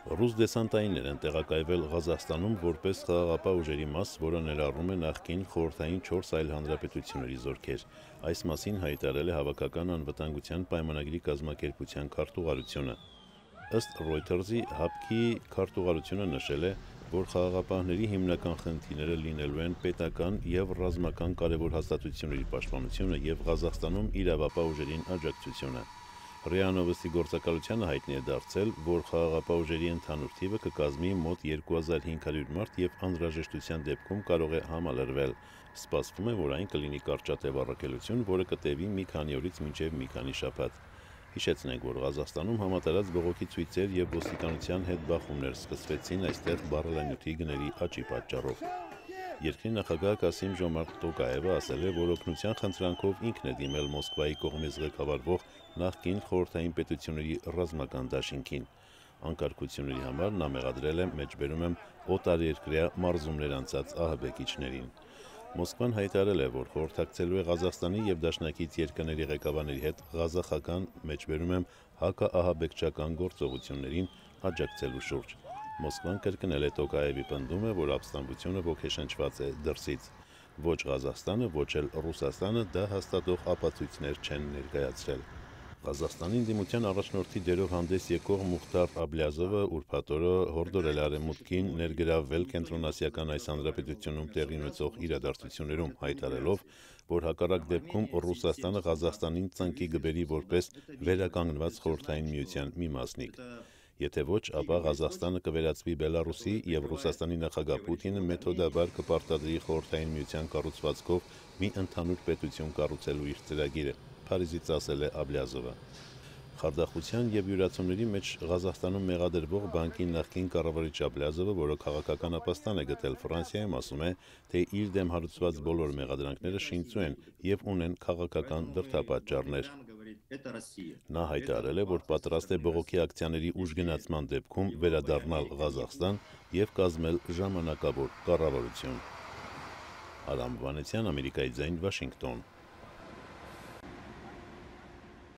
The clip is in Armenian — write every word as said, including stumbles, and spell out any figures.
Ռուս դեսանտայիններ են տեղակայվել Ղազախստանում որպես խաղաղապահ ուժերի մաս, որը ներառում է նախկին խորհրդային չորս այլ հանրապետությունների զորքեր։ Այս մասին հայտարարել է Հավաքական անվտանգության պայմանագրի կազմակերպության քարտուղարությունը։ Ըստ Reuters-ի, ՀԱՊԿ-ի քարտուղարությունը նշել է, որ խաղաղապահների հիմնական խնդիրները լինելու են պետական և ռազմական կարևոր հաստատությունների պաշտպանությունը և Ղազախստանում իրավապահ ուժերին աջակցությունը։ ՌԻԱ Նովոստի գործակալությանը հայտնի է դարձել, որ խաղաղապահ ուժերի ընդհանուր թիվը կկազմի մոտ երկու հազար հինգ հարյուր մարդ և անհրաժեշտության դեպքում կարող է համալրվել։ Սպասվում է, որ այն կլինի կարճատև առաքելություն, որը կտևի մի քանի օրից մինչև մի քանի շաբաթ։ Հիշեցնենք, որ Ղազախստանում համատարած բողոքի ցույցեր և ոստիկանության հետ բախումներ սկսվեցին այստեղ բառալանյութի գների աճի պատճառով։ Երկրի նախագահ Կասիմ-Ժոմարտ Տոկաևը ասել է, որ օգնության խնդրանքով ինքն է դիմել Մոսկվայի կողմից ղեկավարվող նախկին խորհրդային պետությունների ռազմական դաշինքին։ Անկարգությունների համար նա մեղադրել է, մեջբերում եմ, օտարերկրյա մարզումներ անցած ահաբեկիչներին։ Մոսկվան հայտարարել է, որ խորհրդակցելու է Ղազախստանի և դաշնակից երկրների ղեկավարների հետ ղազախական, մեջբերում եմ, հակաահաբեկչական գործողություններին աջակցելու շուրջ։ Մոսկվան կրկնել է Տոկաևի պնդումը, որ ապստամբությունը ոգեշնչված է դրսից։ Ոչ Ղազախստանը, ոչ էլ Ռուսաստանը դա հաստատող ապացույցներ չեն ներկայացրել։ Ղազախստանի ընդդիմության առաջնորդի դերով հանդես եկող Մուխտար Աբլյազովը ուրբաթ օրը հորդորել է Արևմուտքին ներգրավվել Կենտրոնասիական այս հանրապետությունում տեղի ունեցող իրադարձություններում, հայտարարելով, որ հակառակ դեպքում Ռուսաստանը Ղազախստանին ծնկի կբերի որպես վերականգնված Խորհրդային Միության մի մասնիկ։ Եթե ոչ, ապա Ղազախստանը կվերածվի Բելառուսի, և Ռուսաստանի նախագահ Պուտինը մեթոդաբար կպարտադրի Խորհրդային Միության կառուցվածքով մի ընդհանուր պետություն կառուցելու իր ծրագիրը, Փարիզից ասել է Աբլյազովը։ Խարդախության և յուրացումների մեջ Ղազախստանում մեղադրվող բանկի նախկին կառավարիչ Աբլյազովը, որը քաղաքական ապաստան է գտել Ֆրանսիայում, ասում է, թե իր դեմ հարուցված բոլոր մեղադրանքները շինծու են և ունեն քաղաքական դրդապատճառներ։ Նա հայտարարել է, որ պատրաստ է բողոքի ակցիաների ուժգնացման դեպքում վերադառնալ Ղազախստան և կազմել ժամանակավոր կառավարություն։ Արամ Վանեցյան, Ամերիկայի ձայն, Վաշինգտոն։